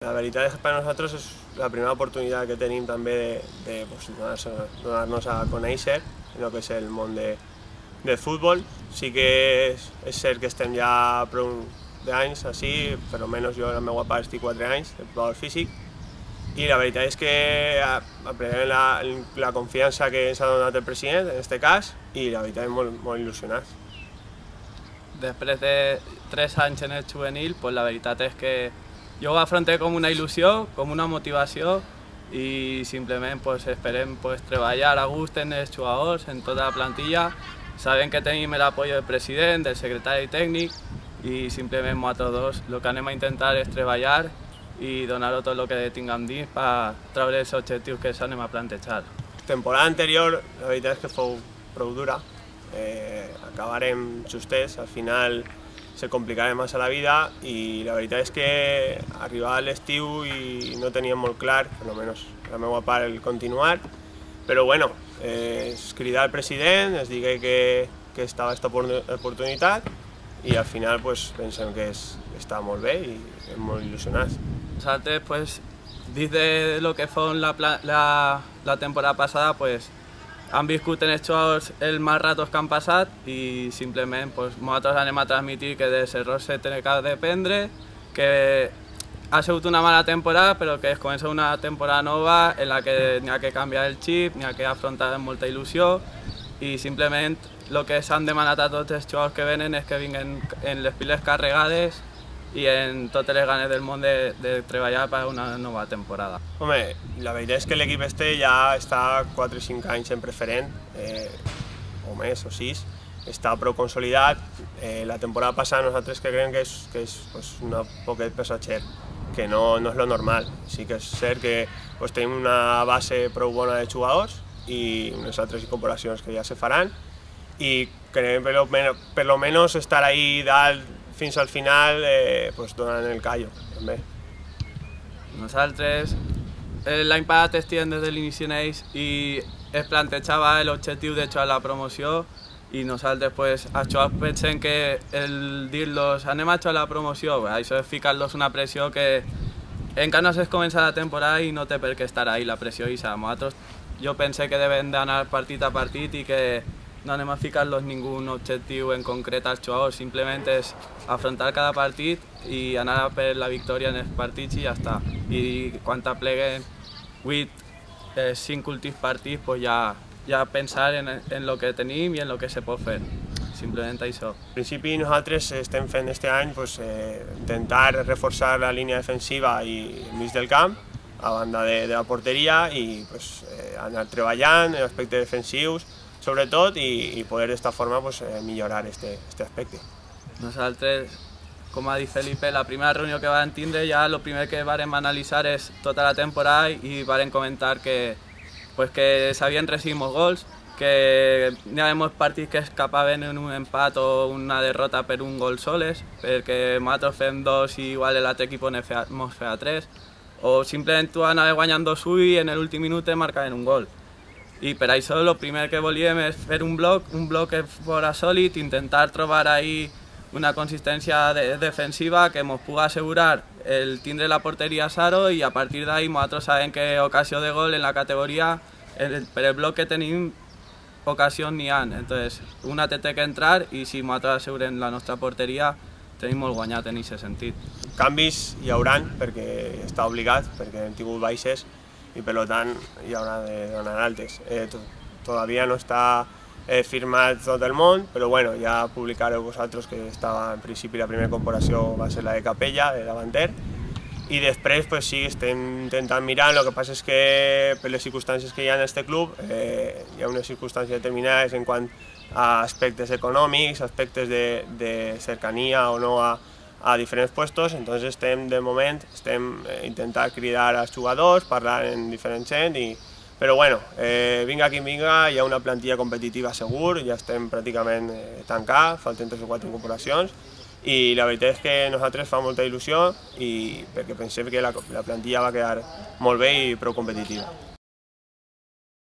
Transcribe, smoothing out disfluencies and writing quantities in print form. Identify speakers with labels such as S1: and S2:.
S1: La veritat és que per a nosaltres és la primera oportunitat que tenim també de donar-nos a conèixer en el que és el món del futbol. Sí que és cert que estem ja prou d'anys així, per almenys jo, la meva part, estic 4 anys de preparador físic, i la veritat és que aprenem la confiança que ens ha donat el president, en aquest cas, i la veritat és molt il·lusionats.
S2: Després de 3 anys en el juvenil, pues la veritat és que jo ho afronté com una il·lusió, com una motivació, i simplement pues, esperem pues, treballar a gust en els jugadors, en tota la plantilla. Sabem que tenim l'apoyo del president, del secretari tècnic, i simplement nosaltres dos el que anem a intentar és treballar i donar-ho tot el que tinguem dins per treure els objectius que ens anem a plantejar.
S1: La temporada anterior, la veritat és que fou prou dura. Acabarem justets, al final se complicarà massa la vida, i la veritat és que arribava l'estiu i no teníem molt clar, almenys la meva part, el continuar, però bueno, es cridar al president, es digué que estava aquesta oportunitat, i al final pues, pensem que està molt bé i estem molt il·lusionats.
S2: Nosaltres, pues, dins de lo que fue la temporada passada, pues, han viscut en els jugadors els mals ratos que han passat i simplement pues, nosaltres anem a transmitir que dels errors se té que aprendre, que ha sigut una mala temporada però que es comença una temporada nova en la que n'hi ha que canviar el xip, n'hi ha que afrontar amb molta il·lusió, i simplement el que s'han demanat a tots els jugadors que venen és que vinguin en les piles carregades i en totes les ganes del món de treballar per a una nova temporada.
S1: Home, la veritat és que l'equip ja està 4 o 5 anys en preferent, o més, o 6, està prou consolidat. La temporada passada nosaltres creiem que és pues, un poquet passatger, que no és lo normal. Sí que és cert que pues, tenim una base prou bona de jugadors i unes altres incorporacions que ja se faran, i creiem per lo menos estar ahí dalt fins al final pues, donant el callo, també.
S2: Nosaltres l'any passat estiguem des de l'inici en ells i es plantejava l'objectiu de jugar a la promoció, i nosaltres pues, els jugadors pensem que el dir-los anem a jugar a la promoció, això és ficar-los una pressió que encara no s'ha començat la temporada i no té per què estar ahí la pressió, i nosaltres jo pense que devem d'anar partit a partit i que no anem a ficar-los ningú objectiu en concret als jugadors, simplement és afrontar cada partit i anar per la victòria en els partits i ja està. I quan apleguen 5 últims partits, pues ja pensar en el que tenim i en el que se pot fer. Simplement això.
S1: En principi nosaltres estem fent aquest any pues, intentar reforçar la línia defensiva i el mig del camp, a banda de la porteria, i pues, anar treballant en aspectes defensius, sobretot, i poder d'esta forma pues, millorar aquest aspecte.
S2: Nosaltres, com ha dit Felipe, la primera reunió que vam tindre ja el primer que vam analitzar és tota la temporada i vam comentar que s'havien recibit molts gols, que n'hi havia molts partits que escapaven en un empat o una derrota per un gol soles, perquè nosaltres fem 2 i igual l'altre equip ens feia 3, o simplement tu anaves guanyant 2-1 i en l'últim minut marcaven un gol. I per això el primer que volíem és fer un bloc que fos sòlid, intentar trobar ahí una consistència defensiva que ens pugui assegurar el tindre la porteria a zero, i a partir d'ahí nosaltres sabem que ocasió de gol en la categoria, per el bloc que tenim, ocasions n'hi ha. Entonces, una té que entrar, i si nosaltres assegurem la nostra porteria, tenim molt guanyat en aquest sentit.
S1: Canvis hi hauran, perquè està obligat, perquè hem tingut baixes, i per tant hi haurà de donar altes. Todavía no està firmat tot el món, però bueno, ja publicareu vosaltres que estava en principi la primera incorporació va ser la de Capella, de davanter, i després pues, sí, estem intentant mirar. El que passa és que per les circumstàncies que hi ha en aquest club hi ha unes circumstàncies determinades en quant a aspectes econòmics, aspectes de cercanía o no a diferents puestos, entonces de moment estem intentant cridar als jugadors, parlar en diferents gent, però bueno, vinga qui vinga, hi ha una plantilla competitiva segur, ja estem pràcticament tancats, falten 3 o 4 incorporacions, i la veritat és que a nosaltres fa molta il·lusió, perquè pensem que la plantilla va quedar molt bé i prou competitiva.